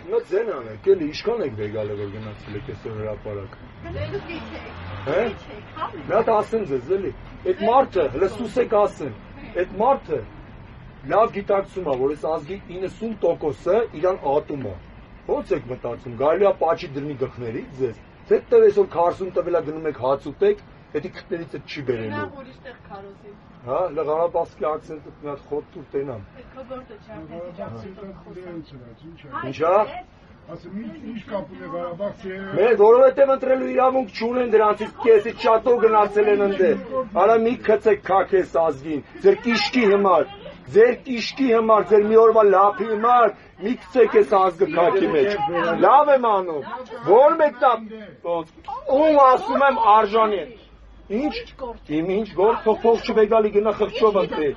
Նա ձեն անեք, էլի իշքան եք վեգալը որ գնացել եք այսօր հրապարակ։ Հե՞։ Մի հատ ասեն ձեզ, էլի։ Այդ մարդը, լսուս եք ասեն, այդ մարդը լավ գիտակցում է, որ այս ազգի 90%-ը իրան ատում է։ Ո՞նց եք մտածում, կարելի է պաչի դրնի գլխներից ձեզ։ Թե այսօր 40 տվելա գնում եք հաց ուտեք, հետի քթներից էլ չի բերելու։ Հա, լղարաբասկի ակցենտը մի հատ խոտ ու տենամ։ Ինչա՞։ Ասում ինչ կապ ունի Ղարաբաղցի։ Մեր որովհետև ընտրելու իրավունք չունեն դրանցից քեսից շատով գնացել են ընդ։ Արա մի քցեք քաքես ազգին, ձեր կիշկի համար, ձեր մի օրվա լափի համար մի քցեք այս ազգը քաքի մեջ։ Լավ եմ անում։ Որ մեկտա ում ասում եմ արժանի։ Ինչ գործ փող չվեգալի գնա խղճով ընտրի։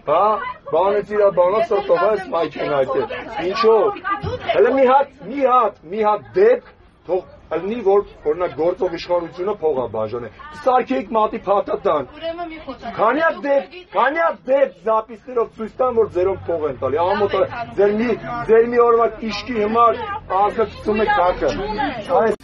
Հա, բանից իրա բանա սրտով այս մայքին այդտեղ։ Ինչո՞վ։ Հələ մի հատ դեպք թող ըլնի որ օրինակ գործով իշխանությունը փողա բաժանել։ Սարքեիք մատի փաթաթան։ Քանի հատ դեպք զապիսներով ցույց տան որ ձերով փող են տալի։ Ամոթ ձեր մի օրվա իշքի համար ազգացում եք քակը։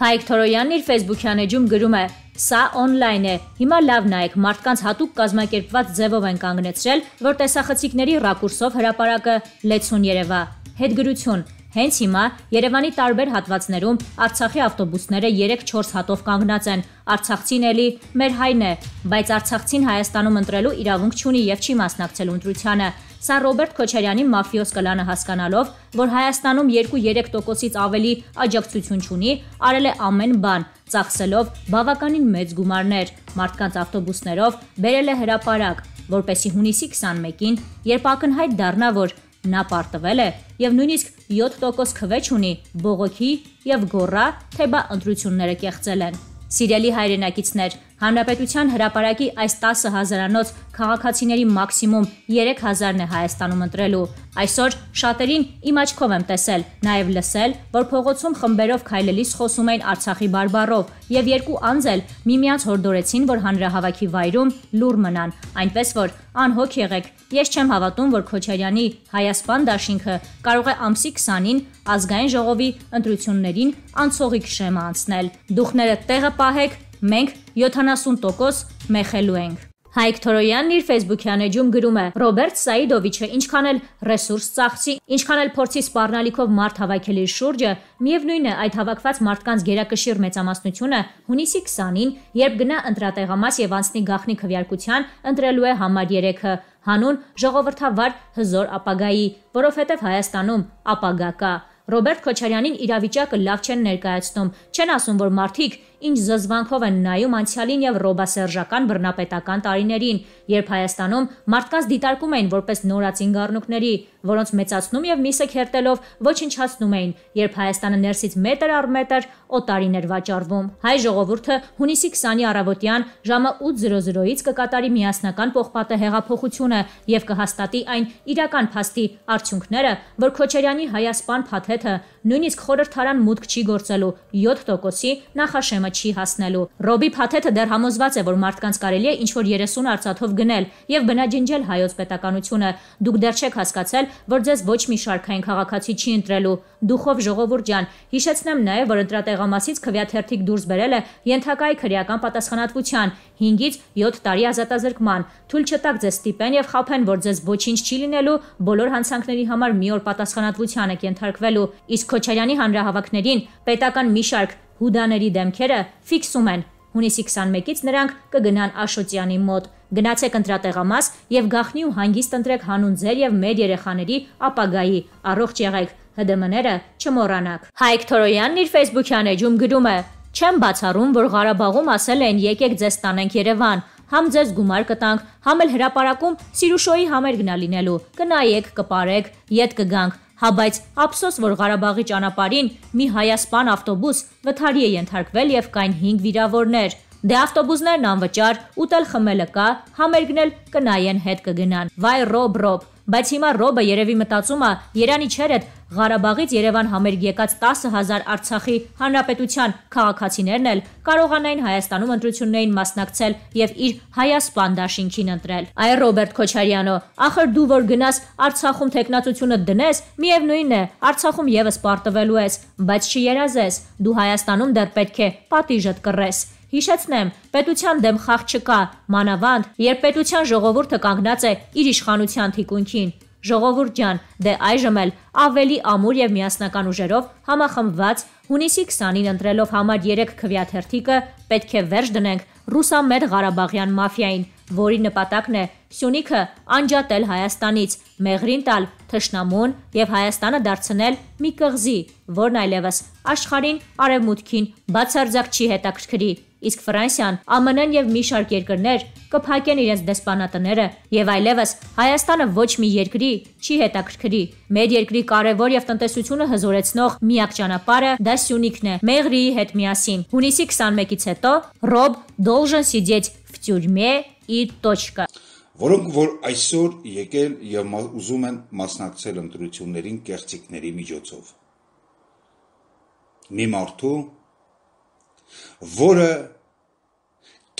Հայկ Թորոյանն իր Facebook-յան էջում գրում է. Սա on-line է։ Հիմա լավ նայեք, մարդկանց հատուկ կազմակերպված ձևով են կանգնեցրել, որ տեսախցիկների ռակուրսով հրապարակը լեցուն երևա։ Հետգրություն. Հենց հիմա Երևանի տարբեր հատվածներում Արցախի ավտոբուսները 3-4 հատով կանգնած են։ Արցախցին էլի մեր հայն է, բայց Արցախցին Հայաստանում ընտրելու իրավունք չունի եւ չի մասնակցելու ընտրությանը։ Սա Ռոբերտ Քոչարյանի մաֆիոզ կլանը հասկանալով, որ Հայաստանում 2-3%-ից ավելի աջակցություն չունի, արել է ամեն բան, ծախսելով բավականին մեծ գումարներ, մարդկանց ավտոբուսներով բերել է հրապարակ, որպեսզի հունիսի 21-ին, երբ ակնհայտ դառնա, որ նա պարտվել է եւ նույնիսկ 7% քվեջ ունի, բողոքի եւ գոռա, թե բա ընտրությունները կեղծել են։ Սիրելի հայրենակիցներ, Հանրապետության հրապարակի այս 10,000-անոց քաղաքացիների մաքսիմում 3,000-ն է Հայաստանում ընտրելու։ Այսօր շատերին իմ աչքով եմ տեսել, նաև լսել, որ փողոցում խմբերով քայլելիս խոսում էին Արցախի բարբառով, եւ երկու անձ էլ միմյանց հորդորեցին, որ հանրահավաքի վայրում լուռ մնան, այնպես որ անհոգ եղեք։ Ես չեմ հավատում, որ Քոչարյանի Հայաստան դաշինքը կարող է ամսի 20-ին ազգային ժողովի ընտրություններին անցողիկ շեմը անցնել։ Դուխները տեղը պահեք, մենք 70% մեխելու ենք։ Հայկ Թորոյանն իր Facebook-յան էջում գրում է. Ռոբերտ Սաիդովիչը ինչքան էլ ռեսուրս ծախսի, ինչքան էլ փորձի սպառնալիքով մարդ հավաքել իր շուրջը, միևնույն է այդ հավաքված մարդկանց գերակշիռ մեծամասնությունը հունիսի 20-ին, երբ գնա ընտրատեղամաս եւ անցնի գաղտնի քվեարկության, ընտրելու է համար 3-ը, հանուն ժողովրդավար հզոր ապագայի, որովհետեւ Հայաստանում ապագա կա։ Ռոբերտ Քոչարյանին իրավիճակը լավ չեն ներկայացնում, չեն ասում, որ մարդիկ ինչ զզվանքով են նայում անցյալին եւ ռոբասերժական բռնապետական տարիներին, երբ Հայաստանում մարդկանց դիտարկում էին որպես նորածին գառնուկների, որոնց մեծացնում եւ միսը քերտելով ոչնչացնում էին, երբ Հայաստանը ներսից մետր առ մետր օտարին էր վաճառվում։ Հայ ժողովուրդը հունիսի 20-ի առավոտյան ժամը 8:00-ից կկատարի միասնական պողպատե հեղափոխությունը եւ կհաստատի այն իրական փաստի արդյունքները, որ Քոչարյանի Հայաստան փաթեթը նույնիսկ խորհրդարան մուտք չի գործելու 7%-ի նախաշեմը չի հասնելու։ Ռոբի փաթեթը դեռ համոզված է, որ մարդկանց կարելի է ինչ-որ 30 արծաթով գնել եւ բնաջնջել հայոց պետականությունը։ Դուք դեռ չեք հասկացել, որ ձեզ ոչ մի շարքային քաղաքացի չի ընտրելու։ Դուխով ժողովուրդ ջան, հիշեցնեմ նաեւ, որ ընտրատեղամասից քվեաթերթիկ դուրս բերելը ենթակա է քրեական պատասխանատվության 5-ից 7 տարի ազատազրկման։ Թույլ չտաք ձեզ ստիպեն եւ խաբեն, որ ձեզ ոչինչ չի լինելու, բոլոր հանցանքների համար մի օր պատասխանատվության եք ենթարկվելու։ Իսկ Քոչարյանի հանրահավաքներին պետական մի շարք հուդաների դեմքերը ֆիքսում են։ Հունիսի 21-ից նրանք կգնան Աշոտյանի մոտ։ Գնացեք ընտրատեղամաս եւ գաղտնի ու հանգիստ ընտրեք հանուն ձեր եւ մեր երեխաների ապագայի։ Առողջ եղեք, ՀԴՄ-ները չմոռանաք։ Հայկ Թորոյանն իր Facebook-յան էջում գրում է. Չեմ բացառում, որ Ղարաբաղում ասել են եկեք ձեզ տանենք Երևան, համ ձեզ գումար կտանք, համ էլ հրապարակում Սիրուշոյի համերգն ա լինելու, կնայեք, կպարեք, ետ կգանք։ Հա բայց ափսոս, որ Ղարաբաղի ճանապարհին մի Հայաստան ավտոբուս վթարի է ենթարկվել եւ կային 5 վիրավորներ։ Դե ավտոբուսներն անվճար, ուտել խմելը կա, համերգն էլ կնայեն հետ կգնան։ Վայ Ռոբ, բայց հիմա Ռոբը երևի մտածում է Երանի չերդ Ղարաբաղից Երևան համերգ եկած 10,000 Արցախի հանրապետության քաղաքացիներն էլ կարողանային Հայաստանում ընտրություններին մասնակցել եւ իր Հայասպան դաշինքին ընտրել։ Այ Ռոբերտ Քոչարյանը, ախր դու որ գնաս Արցախում տեխնացությունը դնես, միևնույն է, Արցախում եւս պարտվելու ես, բայց չերազես, դու Հայաստանում դեռ պետք է պատիժդ կռես։ Հիշեցնեմ, պետության դեմ խաղ չկա, մանավանդ, երբ պետության ժողովուրդը կանգնած է իր իշխանության թիկունքին։ Ժողովուրդ ջան, դե այժմ էլ ավելի ամուր եւ միասնական ուժերով համախմբված հունիսի 20-ին ընտրելով համար 3 քվեաթերթիկը պետք է վերջ դնենք ռուսամետ Ղարաբաղյան մաֆիային, որի նպատակն է Սյունիքը անջատել Հայաստանից, մեղրին տալ թշնամուն եւ Հայաստանը դարձնել մի կղզի, որն այլևս աշխարհին արևմուտքին բացարձակ չի հետաքրքրի, իսկ Ֆրանսիան, ԱՄՆ-ն եւ մի շարք երկրներ կփակեն իրենց դեսպանատները եւ այլևս Հայաստանը ոչ մի երկրի չի հետաքրքրի։ Մեր երկրի կարևոր եւ տնտեսությունը հզորեցնող միակ ճանապարհը դա Սյունիքն է, Մեղրիի հետ միասին։ Հունիսի 21-ից հետո Ռոբ должен сидеть в тюрьме и точка։ Որոնք որ այսօր եկել եւ ուզում են մասնակցել ընտրություններին կեղծիքների միջոցով։ Մի մարդու, որը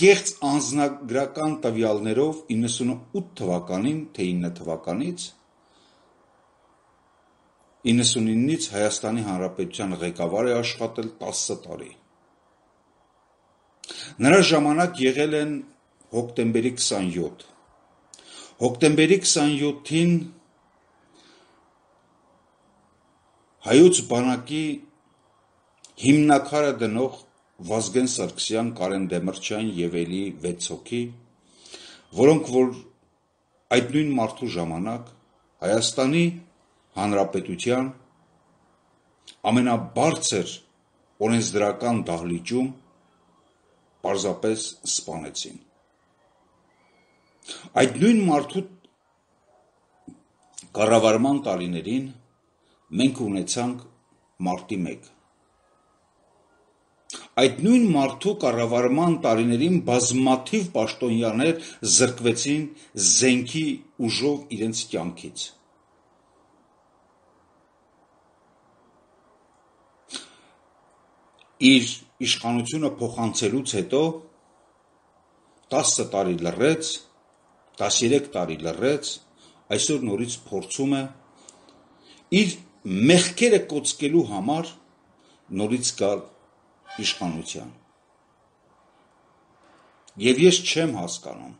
կեղծ անձնագրական տվյալներով 98 թվականին, թե 9 թվականից 99-ից Հայաստանի Հանրապետության ղեկավար է աշխատել 10 տարի։ Նրա ժամանակ եղել են հոկտեմբերի 27։ Հոկտեմբերի 27-ին հայոց բանակի հիմնակարը դնող Վազգեն Սարգսյան, Կարեն Դեմիրճյան եւ էլի 6 հոգի, որոնք որ այդ նույն մարդու ժամանակ Հայաստանի Հանրապետության ամենաբարձր օրենսդրական դահլիճում պարզապես սպանեցին։ Այդ նույն մարդու կառավարման տարիներին մենք ունեցանք մարտի 1։ Այդ նույն մարդու կառավարման տարիներին բազմաթիվ պաշտոնյաներ զրկվեցին զենքի ուժով իրենց կյանքից։ Իր իշխանությունը փոխանցելուց հետո 10 տարի լռեց, 13 տարի լռեց, այսօր նորից փորձում է իր մեղքերը կոծկելու համար նորից գալ իշխանության։ Եվ ես չեմ հասկանում,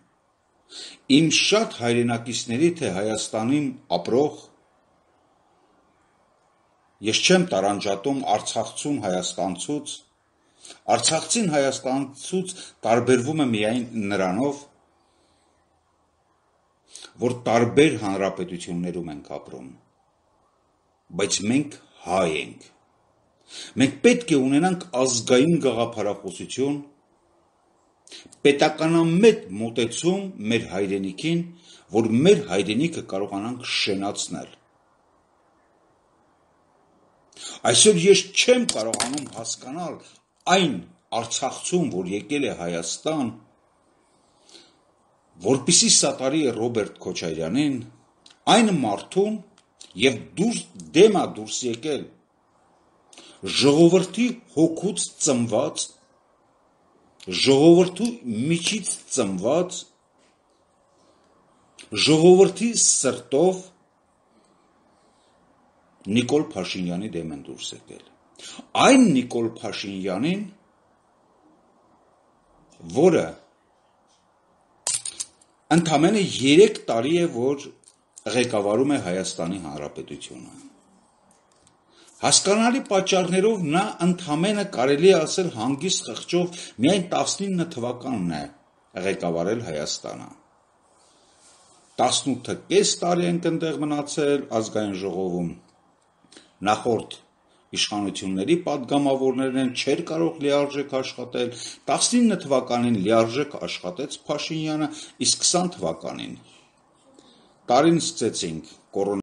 իմ շատ հայրենակիցների, թե Հայաստանում ապրող, ես չեմ տարանջատում արցախցուն հայաստանցուց, արցախցին հայաստանցուց տարբերվում է միայն նրանով, որ տարբեր հանրապետություններում ենք ապրում, բայց մենք հայ ենք։ Մենք պետք է ունենանք ազգային գաղափարախոսություն, պետականամետ մոտեցում մեր հայրենիքին, որ մեր հայրենիքը կարողանանք շենացնել։ Այսօր ես չեմ կարողանում հասկանալ այն արցախցուն, որ եկել է Հայաստան, որպեսզի սատարի է Ռոբերտ Քոչարյանին, այն մարդուն եւ դեմա դուրս եկել ժողովրդի հոգուց ծնված, ժողովրդու միջից ծնված, ժողովրդի սրտով Նիկոլ Փաշինյանի դեմ են դուրս եկել։ Այն Նիկոլ Փաշինյանին, որը ընդամենը 3 տարի է, որ ղեկավարում է Հայաստանի Հանրապետությունը։ Հասկանալի պատճառներով նա ընդամենը կարելի է ասել հանգիստ խղճով միայն 19 թվականն է ղեկավարել Հայաստանը։ 18.5 տարի ենք այնտեղ մնացել ազգային ժողովում։ Նախորդ իշխանությունների պատգամավորներն չէր կարող լիարժեք աշխատել, 19 թվականին լիարժեք աշխատեց Փաշինյանը, իսկ 20 թվականին տարին սկսեցինք կորոն